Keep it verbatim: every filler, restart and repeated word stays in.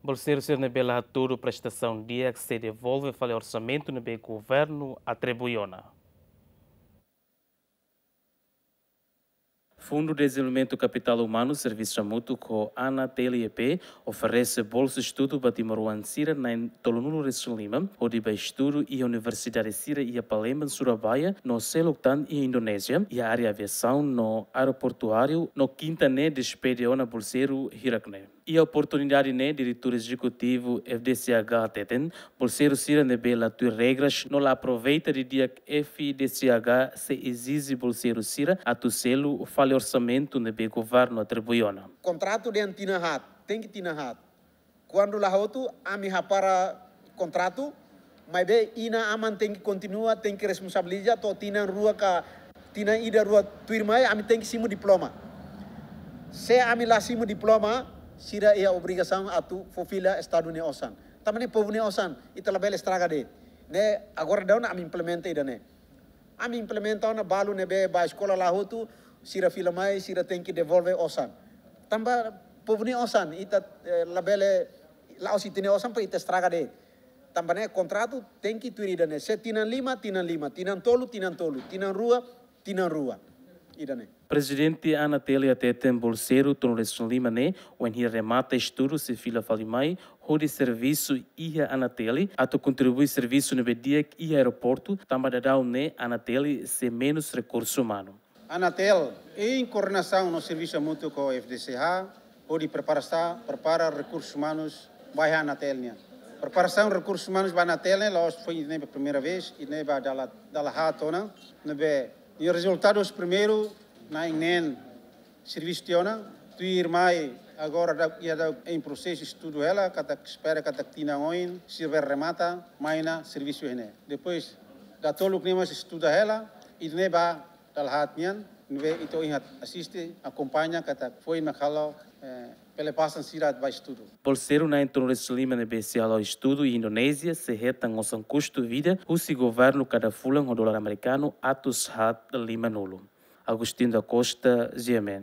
Bolseiru sira ne'ebé la hatudu prestasaun di'ak sei devolve fali orsamentu ne'ebé governu atribui ona. Fundu Dezenvolvimentu Kapitál Umanu servisu hamutuk ho ANATL E P oferese bolsa estudu ba timoroan sira na'in tolunulu-resin-lima hodi ba estudu iha universidade sira iha Palembang, Surabaya no seluk tan iha Indonézia, iha área aviasaun no aeroportuáriu no kinta ne'e despede ona bolseiru hirak ne'e. Iha oportunidade ne'e, diretór ezekutivu F D C H hateten, bolseiru sira ne'ebé la tuir regras no la aproveita didi'ak F D C H sei ezije bolseiru sira atu selu fali orsamentu ne'ebé governu atribui ona. Kontratu dehan tinan haat, tenke tinan haat. Kuandu la hotu, ami hapara kontratu, maibé inan-aman tenke kontinua, tenke responsabiliza, to'o tinan rua ka tinan ida rua tuirmai, ami tenke simu diploma. Se ami la simu diploma, sira iha obrigasaun atu fó fila Estadu nia osan. Tanba ne'e povu nia osan, ita labele estraga de'it. Ne'e agora daudaun ami implementa ida-ne'e. Ami implementa ona balu ne'ebé ba eskola la hotu, sira fila mai, sira tenke devolve osan. Tanba povu nia osan, ita, eh, labele, la'ós ita-nia osan para ita estraga de'it. Tanba ne'e kontratu tenke tuir ida-ne'e. Se tinan lima, tinan lima, tinan tolu, tinan tolu, tinan rua, tinan rua. Ida-ne'e. Prezidente ANATL hateten bolseiru tolunulu-resin-lima ne'e, wainhira remata estudu sei fila fali mai hodi servisu iha ANATL atu kontribui servisu ne'ebé di'ak iha aeroportu, tanba daudaun ne'e ANATL sei menus rekursu umanu. ANATL, em koordenasaun no servisu hamutuk ho F D C H, hodi prepara sa, prepara rekursus umanus ba iha ANATL nian. Preparasaun rekursus umanus ba ANATL ne'e la'ós foin ne'e ba primeira vez, i ne'e ba dala, dala haat ona, ne'ebé nia rezultadus primeiru na'in neen servisu tiha ona, tuirmai agora daudaun iha daudaun em prosesu estudu hela, katak espera katak tinan oin sira bele remata mai ona servisu iha ne'e. Depois datoluk ne'e mós estuda hela, i ne'e ba dala haat nian, ne'ebé ita ohin asiste, akompaña katak foin mak halo, eh, pele pasan sira ba estudu. Bolseiru na'in tolunulu-resin-lima ne'ebé sei halo estudu iha Indonézia sei hetan osan kustu vida husi governu kada fulan ho dolar amerikanu atus haat limanulu. Agostinho da Costa, G M N.